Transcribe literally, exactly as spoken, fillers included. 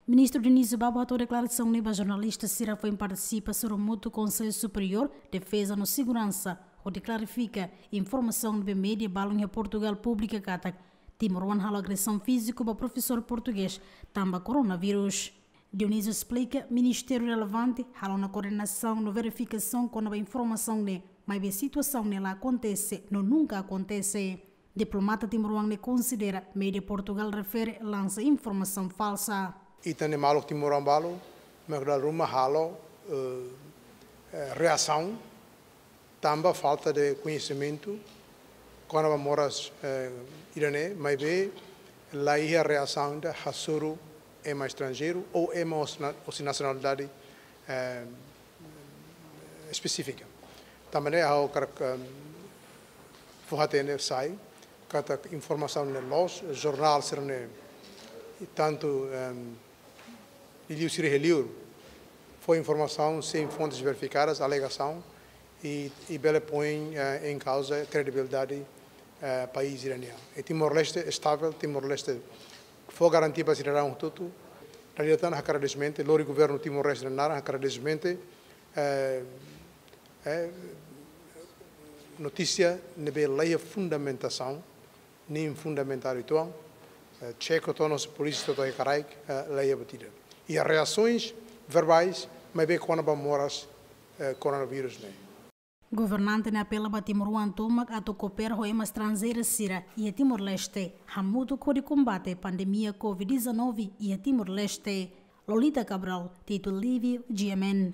Ministru Dionísio Babo hato'o deklarasaun ne'e ba jornalista sira foin partisipa sorumutu Konsellu Superiór Defeza no Seguransa, hodi klarifika informasaun ne'ebé média balun iha Portugal publika katak timoroan halo agresaun fíziku ba profesór portugés tanba koronavírus. Dionísio esplika, ministériu relevante halo ona koordenasaun no verifikasaun kona-ba informasaun ne'e, maibé situasaun ne'e la akontese no nunka akontese. Diplomata timoroan ne'e konsidera média Portugal refere lansa informasaun falsa. Ita-nia maluk timoroan balu, mak dala ruma halo, eh, eh, reasaun tanba falta de koñesimentu kona-ba moras, eh, ida-ne'e, maibé la iha reasaun ida hasoru ema estranjeiru ou ema husi na-, husi nasionalidade, eh, espesífika. Tanba ne'e ha'u hakarak, em, fó-hatene sai katak informasaun ne'e loos, jornál sira-ne'e, tantu, em, liuliu sira iha liur, fó informasaun sein fontes verifikadas, alegasaun, i, i bele poi, eh, em causa kredibilidade, eh, país ida-ne'e. I Timor-Leste estável, Timor-Leste fó garantia ba sidadaun hotu-hotu. Dala ida tan hakarak agradesimentu, lori governu Timor-Leste nia naran hakarak agradesimentu, eh, eh, notísia ne'ebé la iha fundamentasaun, nia fundamentadu uitoan, eh, txeka to'o ona polísia to'o iha karaik, eh, la iha buat ida. Iha reasoens verbais, maibé kona-ba moras, eh, koronavírus ne'e. Governante ne'e apela ba timoroan tomak atu koopera ho ema estranjeira sira iha Timor-Leste, hamutuk hodi kombate pandemia covid dezanove iha Timor-Leste. Lolita Cabral, Tito Livio, G M N.